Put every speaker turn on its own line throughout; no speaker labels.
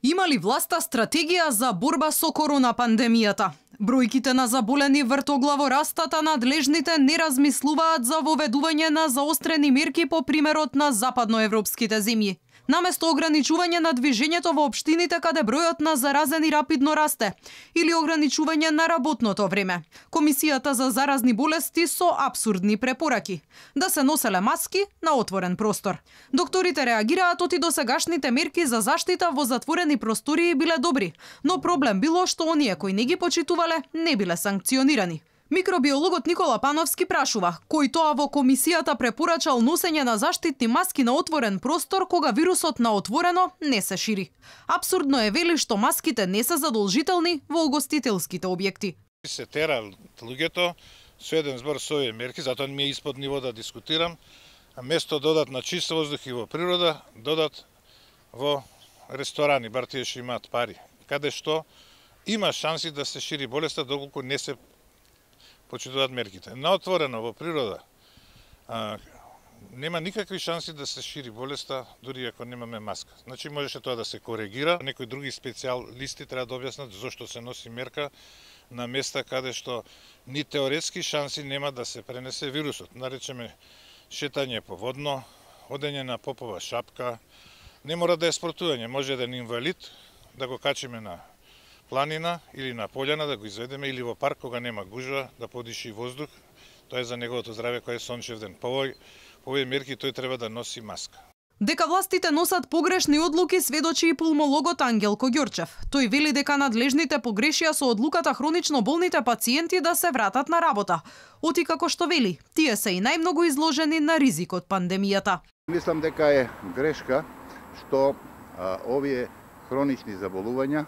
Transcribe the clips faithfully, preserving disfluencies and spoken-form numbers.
Има ли власта стратегија за борба со корона пандемијата? Бројките на заболени вртоглаво растат, а надлежните не размислуваат за воведување на заострени мерки по примерот на западноевропските земји. Наместо ограничување на движењето во општините каде бројот на заразени рапидно расте, или ограничување на работното време. Комисијата за заразни болести со апсурдни препораки да се носеле маски на отворен простор. Докторите реагираат оти досегашните мерки за заштита во затворени простории биле добри, но проблем било што оние кои не ги почитувале не биле санкционирани. Микробиологот Никола Пановски прашува кој тоа во комисијата препорачал носење на заштитни маски на отворен простор кога вирусот на отворено не се шири. Апсурдно е вели што маските не се задолжителни во угостителските објекти.
Се тера луѓето со еден збор со овие мерки, затоа ми е испод ниво да дискутирам, а место додат на чист воздух и во природа, додат во ресторани, бар тие што имаат пари, каде што има шанси да се шири болеста доколку не се почитуваат мерките. На отворено во природа а, нема никакви шанси да се шири болеста дури ако немаме маска. Значи можеше тоа да се коригира. Некои други специјалисти треба да објаснат зошто се носи мерка на места каде што ни теоретски шанси нема да се пренесе вирусот. Наречеме шетање по водно, одење на попова шапка, не мора да е спортување, може еден инвалид да го качиме на планина или на пољана да го изведеме или во парк кога нема гужва да подиши воздух, тоа е за неговото здравје кој е сончев ден. По овој по овие мерки тој треба да носи маска.
Дека властите носат погрешни одлуки сведочи и пулмологот Ангелко Ѓорчев. Тој вели дека надлежните погрешија со одлуката хронично болните пациенти да се вратат на работа. Оти како што вели, тие се и најмногу изложени на ризикот пандемијата.
Мислам дека е грешка што а, овие хронични заболувања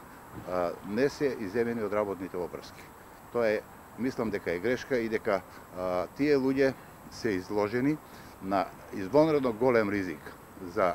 а, не се иземени од работните опрски. Тоа е, мислам дека е грешка и дека а, тие луѓе се изложени на извонредно голем ризик за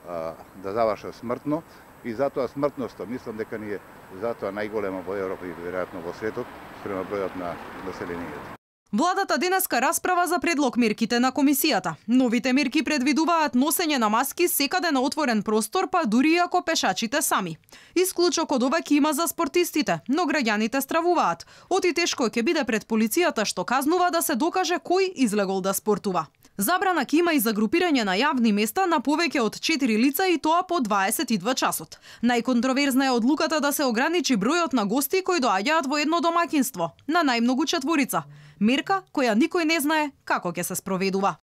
а, да завршат смртно и затоа смртноста, мислам дека ни е затоа најголема во Европа и веројатно во светот спрема бројот на населението.
Владата денеска расправа за предлог мерките на комисијата. Новите мерки предвидуваат носење на маски секаде на отворен простор, па дури ако пешачите сами. Исклучок од ова ќе има за спортистите, но граѓаните стравуваат. Оти тешко ќе биде пред полицијата што казнува да се докаже кој излегол да спортува. Забрана ќе има и за групирање на јавни места на повеќе од четири лица и тоа по дваесет и два часот. Најконтроверзна е одлуката да се ограничи бројот на гости кои доаѓаат во едно домаќинство, на најмногу четворица. Мерка која никој не знае како ќе се спроведува.